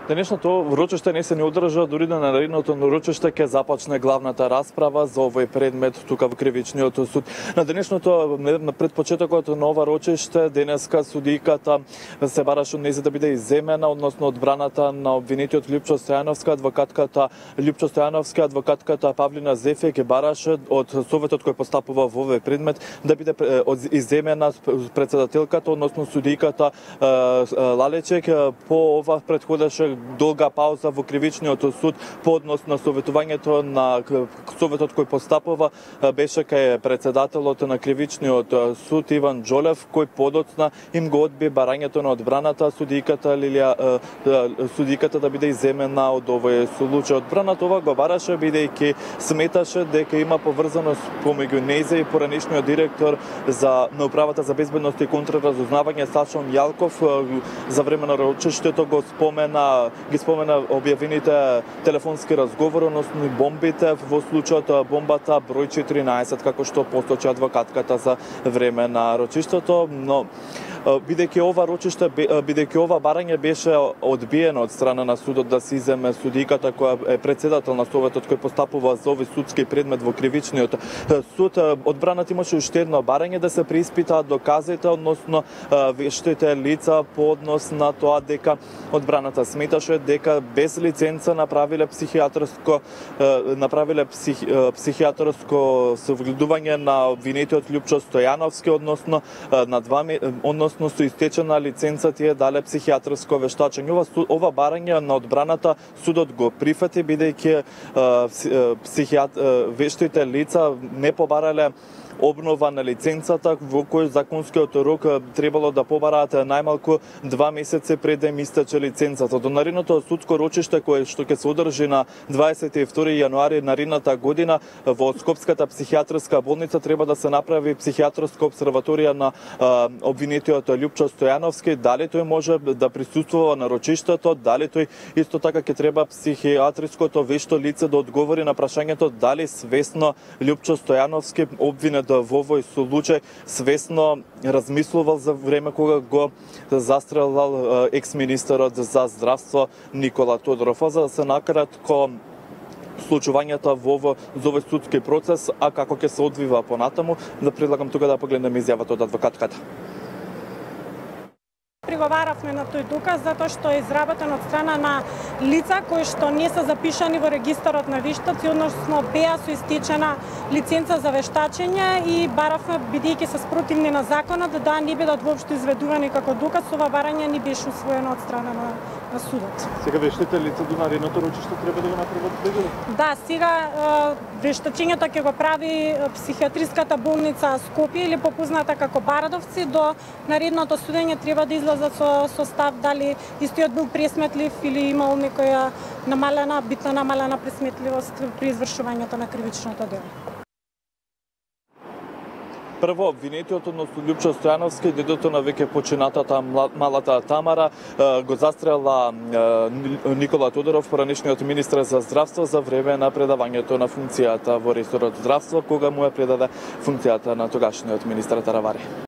Денешното рочиште не се ни одржа, дури на наредното рочиште ќе започне главната расправа за овој предмет тука во Кривичниот суд. На денешното на предпочетокот на ова рочиште денеска судијката се бараше од нејзе да биде изземена, односно одбраната на обвинетиот Лјупчо Стојановски, адвокатката Лјупчо Стојановски, адвокатката Павлина Зефе ќе бараше од советот кој постапува во овој предмет да биде изземена председателката, односно судијката Лалечек. По ова претходеше долга пауза во Кривичниот суд по однос на советувањето на советот кој постапува беше кај председателот на Кривичниот суд Иван Џолев, кој подоцна им го одби барањето на одбраната судијката да биде изземена од овој случај. Одбраната ова го бараше бидејќи сметаше дека има поврзаност помеѓу нејзе и поранешниот директор на управата за безбедност и контраразузнавање Сашон Јалков. За време на рочиштето ги спомена објавените телефонски разговори, односно бомбите во случајот бомбата број 14, како што посочи адвокатката за време на рочиштето, но бидејќи ова барање беше одбиено од страна на судот да се иземе судијката која е председател на советот кој постапува за овој судски предмет во Кривичниот суд, одбраната имаше уште едно барање да се преиспитаат доказите, односно вештите лица по однос на тоа дека одбраната сметаше дека без лиценца направиле психијатарско согледување на обвинетиот Лјупчо Стојановски, односно со истечена лиценца тие дале психијатарско вештачење. Ова барање на одбраната судот го прифати бидејќи вештите лица не побарале обнова на лиценцата во кој законскиот рок требало да побараат најмалку 2 месеци пред да им истече лиценцата. До наредното судско рочиште кое што ќе се одржи на 22 јануари наредната година во Скопската психијатарска болница треба да се направи психијатарска обсерваторија на обвинетиот Лјупчо Стојановски, дали тој може да присуствува на рочиштето, дали тој исто така ќе треба психијатриското вешто лице да одговори на прашањето дали свесно Лјупчо Стојановски обвинет во овој случај свесно размислувал за време кога го застрелал екс-министерот за здравство Никола Тодоров. За да се накратко случувањата во овој судски процес, а како ќе се одвива понатаму, да предлагам тука да погледнеме изјавата од адвокатката. Приговаравме на тој доказ затоа што е изработен од страна на лица кои што не се запишани во регистарот на вештаци, односно беа со истечена лиценца за вештачење и баравме, бидејќи се спротивни на законот, да не бидат воопшто изведувани како доказ. Ова барање не беше усвоено од страна на судот. Сега вештите лица до наредното рочиште треба да го направат преглед? Да, сега вештачењето ќе го прави психијатриската болница Скопје или попозната како Барадовци. До наредното судење треба да излезат со став дали истиот бил пресметлив или имал некоја битна намалена пресметливост при извршувањето на кривичното дело. Прво, обвинетиот, односно Лјупчо Стојановски, дедото на веќе починатата малата Тамара, го застрела Никола Тодоров, поранешниот министер за здравство, за време на предавањето на функцијата во ресорот здравство, кога му ја предаде функцијата на тогашниот министер Таравари.